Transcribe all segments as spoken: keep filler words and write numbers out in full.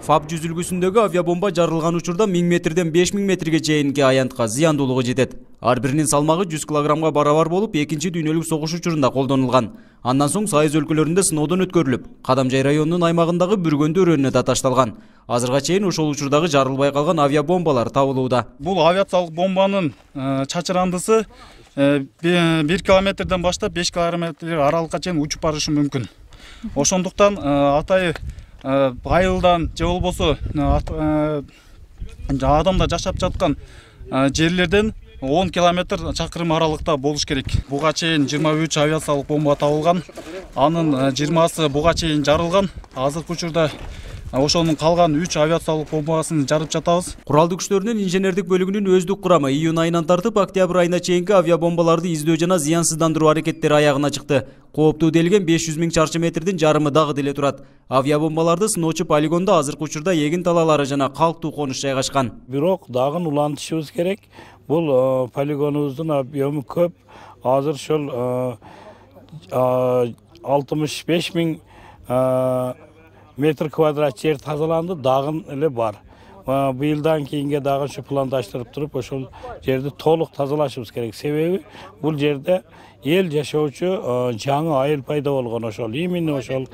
ФАП жүзүлгүсүндөгү авиабомба жарылган учурда миң метрден беш миң метрге чейинки аянтка зыяндуулугу жетет. Ар биринин салмагы жүз килограммга барабар болуп, экинчи дүйнөлүк согуш учурунда колдонулган. Андан соң Сайыз өлкөлөрүндө сыноодон өткөрүлүп, Кадамжай районунун аймагындагы Бүргөндү өрөөнүнө да ташталган. Азырга чейин ошол учурдагы жарылбай калган авиабомбалар табылууда. Бул авиациялык бомбанын чачырандысы бир километрден баштап беш километр аралыкка чейин учуп барышы мүмкүн. Ошондуктан атайы айылдан же болбосо адамда жашап жаткан жерлерден он километр чакырым аралыкта болуш керек. Буга чейин жыйырма үч авиациялык бомба табылган. Анын жыйырмасы буга чейин жарылган. Азыркы учурда ошонун калган үч авиациялык бомбасын жарып жатабыз. Куралдуу күчтөрүнүн инженердик бөлүгүнүн өздүк курамы июнь айынан тартып октябрь айына чейинки авиабомбаларды издөө жана зыянсыздандыруу аракеттери аягына чыкты. Кооптуу делген беш жүз миң чарчы метрдин жарымы дагы деле турат. Авиабомбаларды сыноочу полигондо азыркы учурда эгин талаалары жана калктуу конуш жайгашкан. Бирок дагы улантышыбыз керек. Бул полигонубуздун объему көп. Азыр ошол алтымыш беш миң метр квадрат жер тазаланды, дагы эле бар. Быйылдан кийинге дагы ушу пландаштырып туруп, ошол жерди толук тазалашыбыз керек. Себеби бул жерде эл жашоочу жаңы айыл пайда болгон, ошол именно ошол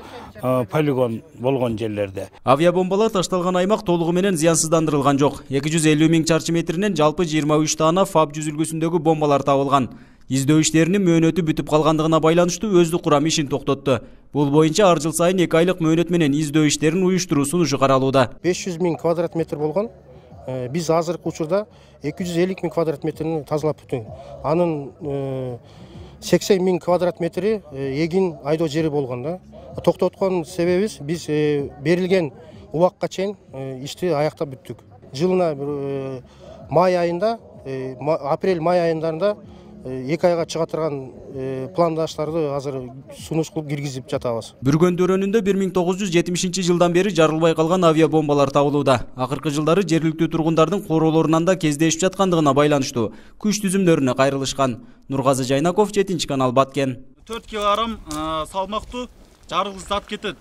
полигон болгон жерлерде. Авиабомбалар ташталган аймак толугу менен зыянсыздандырылган жок. эки жүз элүү миң чарчы метринен жалпы жыйырма үч даана ФАП жүзүлгүсүндөгү бомбалар табылган. Издөө иштеринин мөөнөтү бүтүп калгандыгына байланыштуу өздүк курам ишин токтотту. Бул боюнча ар жыл сайын эки айлык мөөнөт менен издөө иштерин уюштуруу сунушу каралууда. беш жүз миң квадрат метр болгон. Биз азыркы учурда эки жүз элүү миң квадрат метрин тазалап бүттүк. Анын сексен миң квадрат метри эгин айдоо жери болгон да. Токтоткон себебибиз биз берилген убакка чейин ишти аяктап бүттүк. Жылына май айында, апрель-май айындарында эки айга чыга турган пландаштарды азыр сунуш кылып киргизип жатабыз. Бүргөндү өрөөнүндө бир миң тогуз жүз жетимишинчи жылдан бери жарылбай калган авиабомбалар табылууда. Акыркы жылдары жергиликтүү тургундардын короолорунан да кездешип жаткандыгына байланыштуу күч түзүмдөрүнө кайрылышкан. Нургазы Жайнаков, жетинчи канал, Баткен. төрт килограмм салмактуу жарылгыч зат кетет.